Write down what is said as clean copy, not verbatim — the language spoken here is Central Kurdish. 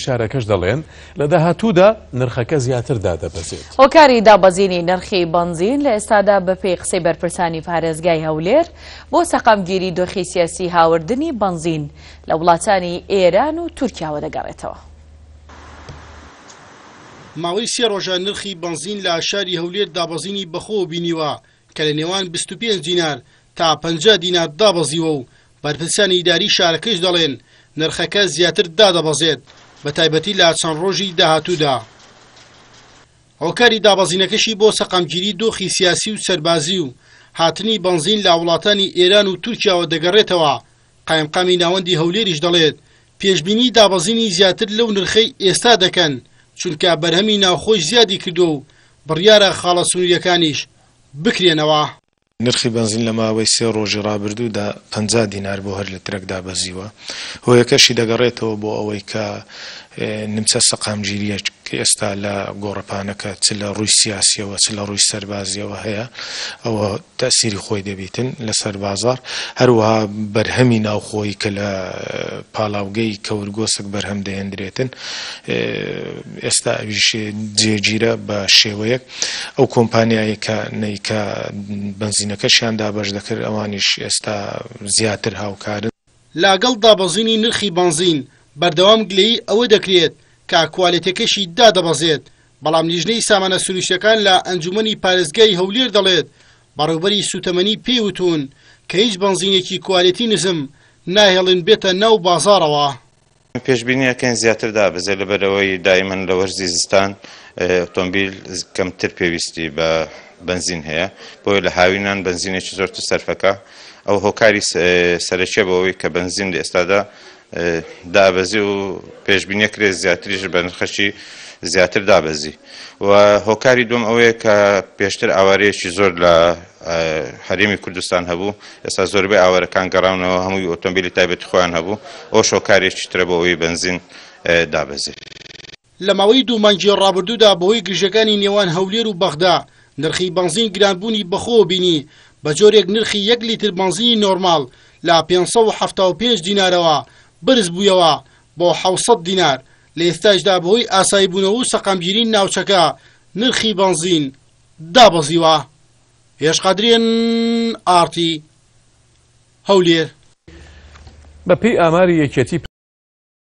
شارەکەش دەڵێن، لە داهاتوودا نرخەکە زیاتر دادەبەزێت. هۆکاری دابەزینی نرخی بەنزین لە ئێستادا بەپێی قسەی بەرپرسانی پارێزگای هەولێر بۆ سەقامگیری دۆخی سیاسی هاوردنی بەنزین لە وڵاتانی ئێران و تورکیاوە دەگەڕێتەوە. ماوەی سێ ڕۆژە نرخی بەنزین لە شاری هەولێر دابەزینی بەخۆوە بینیوە کە لە نێوان 25 دینار تا 50 دینار دابەزیوە و بەرپرسانی ئیداری شارەکەش دەڵێن، نرخەکە زیاتر دادەبەزێت، بەتایبەتی لە چەند ڕۆژی داهاتوودا. هۆکاری دابەزینەکەشی بۆ سەقامگیری دۆخی سیاسی و سەربازی و هاتنی بەنزین لە وڵاتانی ئێران و تورکیاوە دەگەڕێتەوە، قایمقامی ناوەندی هەولێریش دەڵێت، پێشبینی دابەزینی زیاتر لەو نرخەی ئێستا دەکەن، چونکە بەرهەمی ناوخۆش زیادی کردووە و بڕیارە خاڵە سنوورییەکانیش بکرێنەوە. نرخی بەنزین لە ماوەی سێ ڕۆژی ڕابردوودا 50 دینار بۆ هەر لترێک دابەزیوە، هۆیەکەشی دەگەڕێتەوە بۆ ئەوەی کە نمچە سەقامگیرییەک ئێستا لە گۆڕەپانەکە چ لە ڕووی سیاسییەوە چ لە ڕووی سەربازییەوە هەیە، ئەوە تەئسیری خۆی دەبیتن لەسەر بازاڕ، هەروەها بەرهەمی ناوخۆیی کە لە پاڵاوگەی کەورگۆسک بەرهەم دەهێندرێتن ئێستا ئەویش جێگیرە بە شێوەیەک. ئەو کۆمپانیایەکانەی کە بەنزینەکەشیان دابەش دەکرد ئەوانیش ئێستا زیاتر هاوکارن. لەگەڵ دابەزینی نرخی بەنزین، بەردەوام گلەیی ئەوە دەکرێت کە کوالێتیەکەشی دادەبەزێت، بەڵام لیژنەی سامانە سروشتیەکان لە ئەنجومەنی پارێزگای هەولێر دەڵێت، بەڕێوبەری سوتەمەنی پێی وتوون کە هیچ بەنزینێکی کوالێتی نزم ناهێڵن بێتە ناو بازاڕەوە. پێشبینی ئەکەین زیاتر دابەزێت لەبەرئەوەی دائیمەن لە وەرزی زستان ئۆتۆمبیل کەمتر پێویستی بە بەنزین هەیە بۆیە لە هاوینان بەنزینێکی زۆرتر سەرفەکە ئەو هۆکاری سەرەکیە بۆ ئەوەی کە بەنزین لە ئێستادا دابەزی و پێشبینیە کرێت زیاتریش بە نرخەکی زیاتر دابەزی و هۆکاری دوم ئەوەیە کە پێشتر ئاوارەیەکی زۆر لە هەرێمی کوردستان هەبوو، ئێستا زۆربەی ئاوارەکان گەڕاونەوە، هەمووی ئۆتۆمبیلی تایبەتی خۆیان هەبوو، ئەوەش هۆکارێکی ترە بۆ ئەوەی بەنزین دابەزێت. لە ماوەی دوو مانگی ڕابردوودا بەهۆی گرژییەکانی نێوان هەولێر و بەغدا، نرخی بەنزین گرانبوونی بەخۆوە بینی، بەجۆرێک نرخی یەک لیتر بەنزینی نۆرماڵ لە 575 دینارەوە بەرزبوویەوە بۆ 700 دینار، لە ئێستاشدا بەهۆی ئاساییبوونەوە و سەقامگیریی ناوچەکە نرخی بەنزین دابەزیوە. هێرش قادری ئێن ئاڕ تی، هەولێر. بەپێی ئاماری یەکێتی.